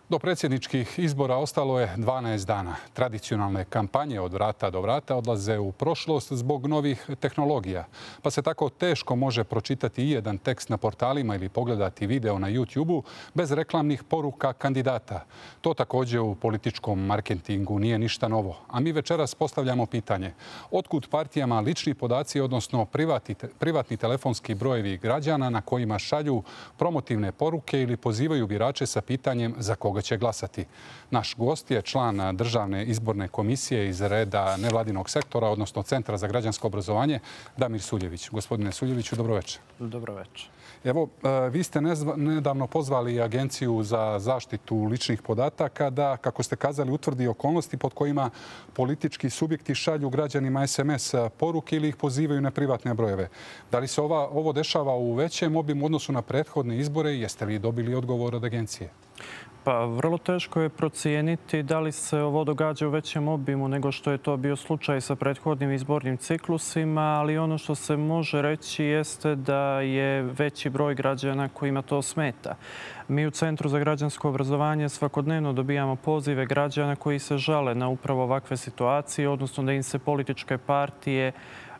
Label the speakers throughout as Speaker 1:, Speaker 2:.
Speaker 1: Do predsjedničkih izbora ostalo je 12 dana. Tradicionalne kampanje od vrata do vrata odlaze u prošlost zbog novih tehnologija. Pa se tako teško može pročitati i jedan tekst na portalima ili pogledati video na YouTube-u bez reklamnih poruka kandidata. To također u političkom marketingu nije ništa novo. A mi večeras postavljamo pitanje. Otkud partijama lični podaci, odnosno privatni telefonski brojevi građana na kojima šalju promotivne poruke ili pozivaju birače sa pitanjem za koga će glasati. Naš gost je član Državne izborne komisije iz reda nevladinog sektora, odnosno Centra za građansko obrazovanje, Damir Suljević. Gospodine Suljeviću, dobro večer.
Speaker 2: Dobro večer.
Speaker 1: Evo, vi ste nedavno pozvali Agenciju za zaštitu ličnih podataka da, kako ste kazali, utvrdi okolnosti pod kojima politički subjekti šalju građanima SMS poruke ili ih pozivaju na privatne brojeve. Da li se ovo dešava u većem obimu u odnosu na prethodne izbore i jeste li dobili odgovor od Agencije?
Speaker 2: Pa vrlo teško je procijeniti da li se ovo događa u većem obimu nego što je to bio slučaj sa prethodnim izbornim ciklusima, ali ono što se može reći jeste da je veći broj građana kojima to smeta. Mi u Centru za građansko obrazovanje svakodnevno dobijamo pozive građana koji se žale na upravo ovakve situacije, odnosno da im se političke partije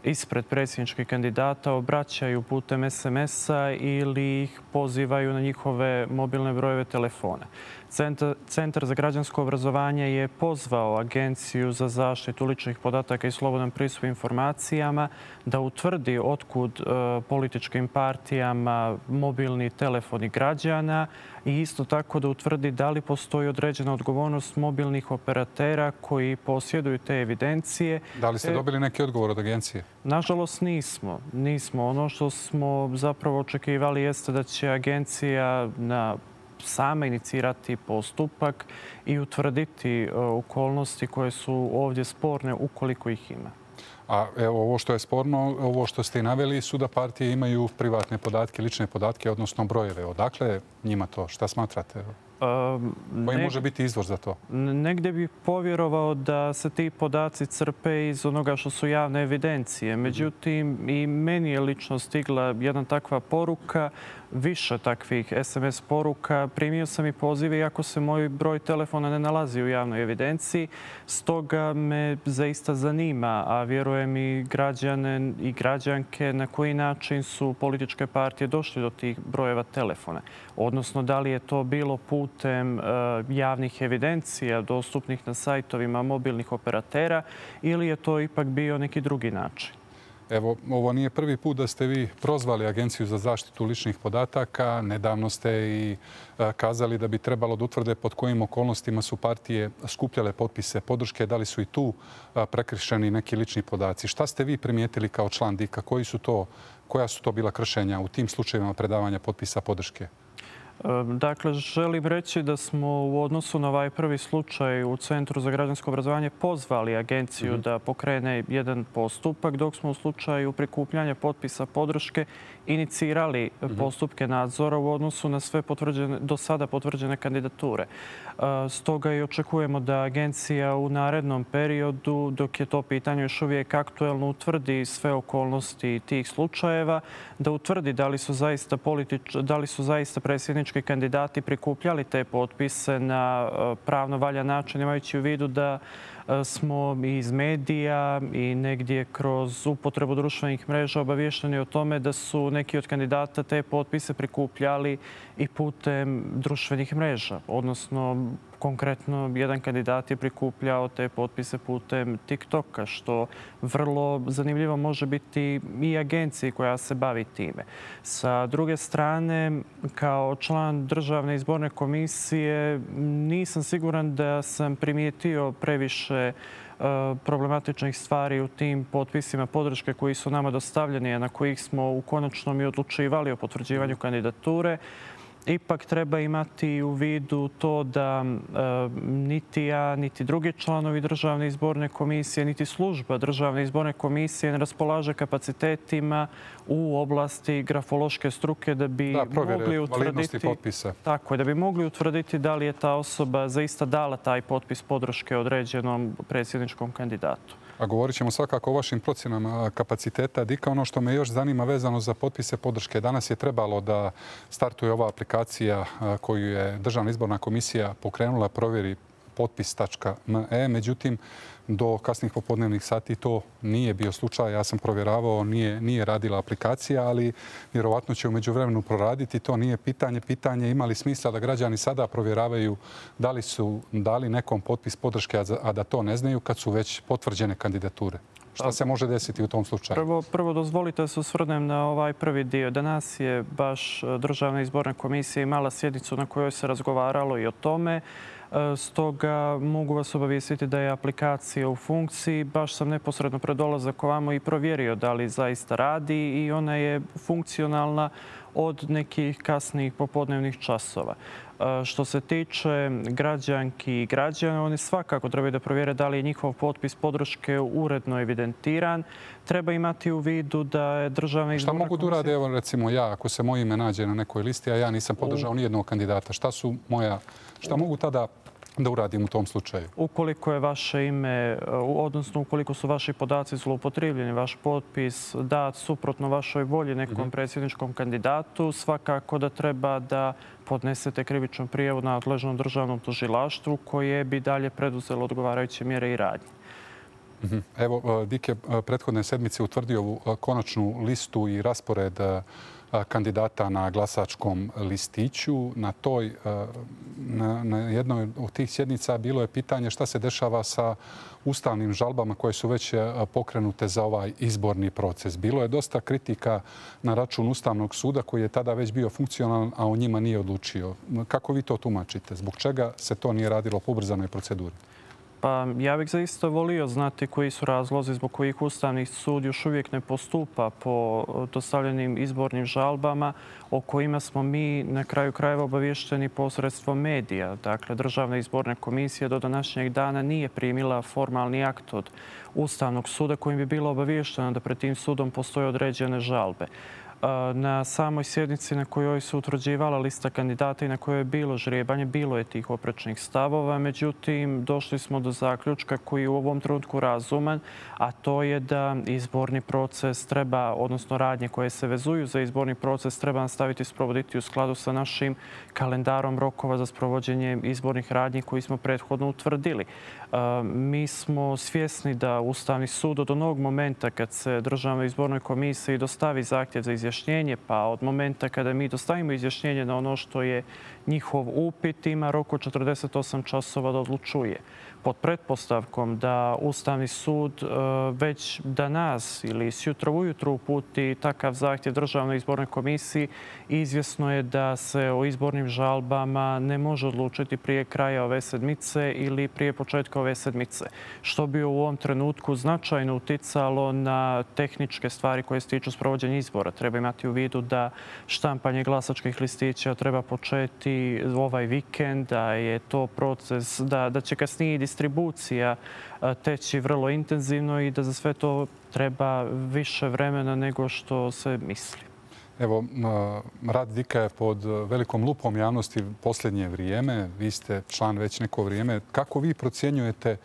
Speaker 2: ispred predsjedničkih kandidata obraćaju putem SMS-a ili ih pozivaju na njihove mobilne brojeve telefona. Centar za građansko obrazovanje je pozvao Agenciju za zaštitu ličnih podataka i slobodan pristup informacijama da utvrdi otkud političkim partijama mobilni telefoni građana i isto tako da utvrdi da li postoji određena odgovornost mobilnih operatera koji posjeduju te evidencije.
Speaker 1: Da li ste dobili neki odgovor od Agencije?
Speaker 2: Nažalost nismo. Ono što smo zapravo očekivali jeste da će Agencija sama inicirati postupak i utvrditi okolnosti koje su ovdje sporne ukoliko ih ima.
Speaker 1: A evo, ovo što je sporno, ovo što ste i naveli, su da partije imaju privatne podatke, lične podatke, odnosno brojeve. Odakle njima to? Šta smatrate? Koji može biti izvor za to?
Speaker 2: Negdje bih povjerovao da se ti podaci crpe iz onoga što su javne evidencije. Međutim, i meni je lično stigla jedna takva poruka, više takvih SMS poruka. Primio sam i pozive iako se moj broj telefona ne nalazi u javnoj evidenciji. Stoga me zaista zanima, a vjerujem i građane i građanke, na koji način su političke partije došli do tih brojeva telefona. Odnosno, da li je to bilo putem javnih evidencija dostupnih na sajtovima mobilnih operatera ili je to ipak bio neki drugi način.
Speaker 1: Evo, ovo nije prvi put da ste vi prozvali Agenciju za zaštitu ličnih podataka. Nedavno ste i kazali da bi trebalo da utvrde pod kojim okolnostima su partije skupljale potpise podrške. Da li su i tu prekršeni neki lični podaci? Šta ste vi primijetili kao član DIK-a? Koja su to bila kršenja u tim slučajevima predavanja potpisa podrške?
Speaker 2: Dakle, želim reći da smo u odnosu na ovaj prvi slučaj u Centru za građansko obrazovanje pozvali Agenciju da pokrene jedan postupak, dok smo u slučaju prikupljanja potpisa podrške inicirali postupke nadzora u odnosu na sve do sada potvrđene kandidature. Stoga i očekujemo da Agencija u narednom periodu, dok je to pitanje još uvijek aktuelno, utvrdi sve okolnosti tih slučajeva, da utvrdi da li su zaista predsjednički kandidati prikupljali te potpise na pravno valjan način, imajući u vidu da smo iz medija i negdje kroz upotrebu društvenih mreža obavješteni o tome da su neki od kandidata te potpise prikupljali i putem društvenih mreža. Odnosno, konkretno, jedan kandidat je prikupljao te potpise putem TikToka, što vrlo zanimljivo može biti i agenciji koja se bavi time. Sa druge strane, kao član Državne izborne komisije, nisam siguran da sam primijetio previše problematičnih stvari u tim potpisima podrške koji su nama dostavljeni, a na kojih smo u konačnom i odlučivali o potvrđivanju kandidature. Ipak treba imati u vidu to da niti ja, niti drugi članovi Državne izborne komisije, niti služba Državne izborne komisije ne raspolaže kapacitetima u oblasti grafološke struke da bi mogli utvrditi da li je ta osoba zaista dala taj potpis podrške određenom predsjedničkom kandidatu.
Speaker 1: A govorit ćemo svakako o vašim procjenama kapaciteta DIK-a. Ono što me još zanima vezano za potpise podrške. Danas je trebalo da startuje ova aplikacija koju je Državna izborna komisija pokrenula, provjeri potpis.me. Međutim, do kasnih popodnevnih sati to nije bio slučaj. Ja sam provjeravao, nije radila aplikacija, ali vjerovatno će u međuvremenu proraditi. To nije pitanje. Pitanje ima li smisla da građani sada provjeravaju da li su dali nekom potpis podrške, a da to ne znaju kad su već potvrđene kandidature? Šta se može desiti u tom slučaju?
Speaker 2: Prvo dozvolite da se osvrnem na ovaj prvi dio. Danas je baš Državna izborna komisija imala sjednicu na kojoj se razgovaralo i o tome. Stoga mogu vas obavijestiti da je aplikacija u funkciji. Baš sam neposredno pred dolazak ovamo i provjerio da li zaista radi i ona je funkcionalna od nekih kasnijih popodnevnih časova. Što se tiče građanki i građana, oni svakako trebaju da provjere da li je njihov potpis podrške uredno evidentiran. Treba imati u vidu da je Državna izborna komisija...
Speaker 1: Šta mogu da urade, evo recimo ja, ako se moje ime nađe na nekoj listi, a ja nisam podržao nijednog kandidata? Šta mogu tada da uradim u tom slučaju?
Speaker 2: Ukoliko je vaše ime, odnosno ukoliko su vaši podaci zloupotrijebljeni, vaš potpis dat suprotno vašoj volji nekom predsjedničkom kandidatu, svakako da treba da podnesete krivičnu prijavu nadležnom državnom tužilaštvu koje bi dalje preduzelo odgovarajuće mjere i radnje.
Speaker 1: Evo, DIK je prethodne sedmice utvrdio ovu konačnu listu i raspored kandidata na glasačkom listiću. Na jednoj od tih sjednica bilo je pitanje šta se dešava sa ustavnim žalbama koje su već pokrenute za ovaj izborni proces. Bilo je dosta kritika na račun Ustavnog suda koji je tada već bio funkcionalan, a o njima nije odlučio. Kako vi to tumačite? Zbog čega se to nije radilo po ubrzanoj proceduri?
Speaker 2: Pa ja bih zaista volio znati koji su razlozi zbog kojih Ustavni sud još uvijek ne postupa po dostavljenim izbornim žalbama o kojima smo mi na kraju krajeva obavješteni posredstvom medija. Dakle, Državna izborna komisija do današnjeg dana nije primila formalni akt od Ustavnog suda kojim bi bilo obavješteno da pred tim sudom postoje određene žalbe. Na samoj sjednici na kojoj se utvrđivala lista kandidata i na kojoj je bilo žrijebanje, bilo je tih oprečnih stavova. Međutim, došli smo do zaključka koji je u ovom trenutku razuman, a to je da izborni proces treba, odnosno radnje koje se vezuju za izborni proces, treba nastaviti sprovoditi u skladu sa našim kalendarom rokova za sprovođenje izbornih radnji koji smo prethodno utvrdili. Mi smo svjesni da Ustavni sud od onog momenta kad se Državnoj izbornoj komisiji dostavi zahtjev za izjašnjenje, pa od momenta kada mi dostavimo izjašnjenje na ono što je njihov upit, ima rok od 48 časova da odlučuje. Pod pretpostavkom da Ustavni sud već danas ili sjutra ujutro uputi takav zahtjev Državnoj izbornoj komisiji, izvjesno je da se o izbornim žalbama ne može odlučiti prije kraja ove sedmice ili prije početka ove sedmice, što bi u ovom trenutku značajno uticalo na tehničke stvari koje se tiču sprovođenja izbora. Treba imati u vidu da štampanje glasačkih listića treba početi ovaj vikend, da je to proces, da će kasnije distribucija teći vrlo intenzivno i da za sve to treba više vremena nego što se misli.
Speaker 1: Evo, rad DIK-a je pod velikom lupom javnosti posljednje vrijeme. Vi ste član već neko vrijeme. Kako vi procjenjujete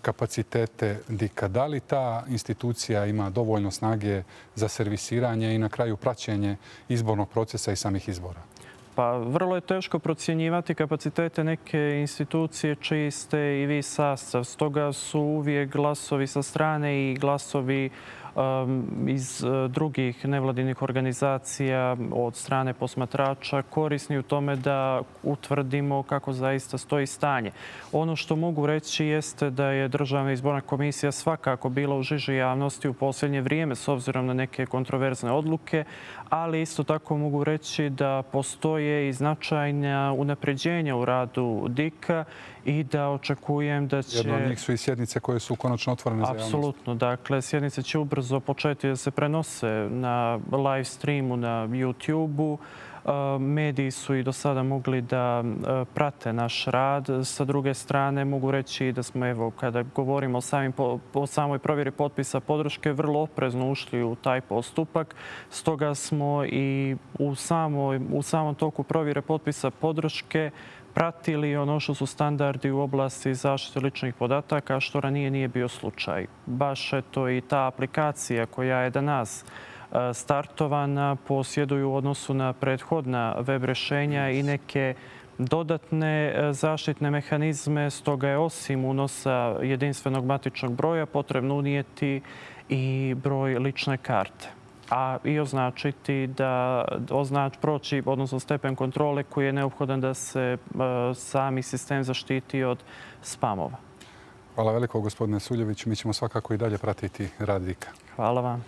Speaker 1: kapacitete DIK-a? Da li ta institucija ima dovoljno snage za servisiranje i na kraju praćenje izbornog procesa i samih izbora?
Speaker 2: Pa vrlo je teško procjenjivati kapacitete neke institucije čiji ste i vi sastav. Stoga su uvijek glasovi sa strane i glasovi iz drugih nevladinih organizacija od strane posmatrača korisni u tome da utvrdimo kako zaista stoji stanje. Ono što mogu reći jeste da je Državna izborna komisija svakako bila u žiži javnosti u posljednje vrijeme s obzirom na neke kontroverzne odluke, ali isto tako mogu reći da postoje i značajna unapređenja u radu DIK-a i da očekujem da će...
Speaker 1: Jedno od njih su i sjednice koje su konačno otvorene za javnost.
Speaker 2: Apsolutno. Dakle, sjednice će ubrzo početi da se prenose na live streamu na YouTube-u. Mediji su i do sada mogli da prate naš rad. Sa druge strane, mogu reći da smo, evo, kada govorimo o samoj provjeri potpisa podrške, vrlo oprezno ušli u taj postupak. Stoga smo i u samom toku provjere potpisa podrške pratili ono što su standardi u oblasti zaštite ličnih podataka, što ranije nije bio slučaj. Baš eto i ta aplikacija koja je danas startovana posjeduju u odnosu na prethodna web rješenja i neke dodatne zaštitne mehanizme. Stoga je osim unosa jedinstvenog matičnog broja potrebno unijeti i broj lične karte, a i označiti da proći, odnosno stepen kontrole koji je neophodan da se sami sistem zaštiti od spamova.
Speaker 1: Hvala veliko, gospodine Suljević. Mi ćemo svakako i dalje pratiti rad RIK-a.
Speaker 2: Hvala vam.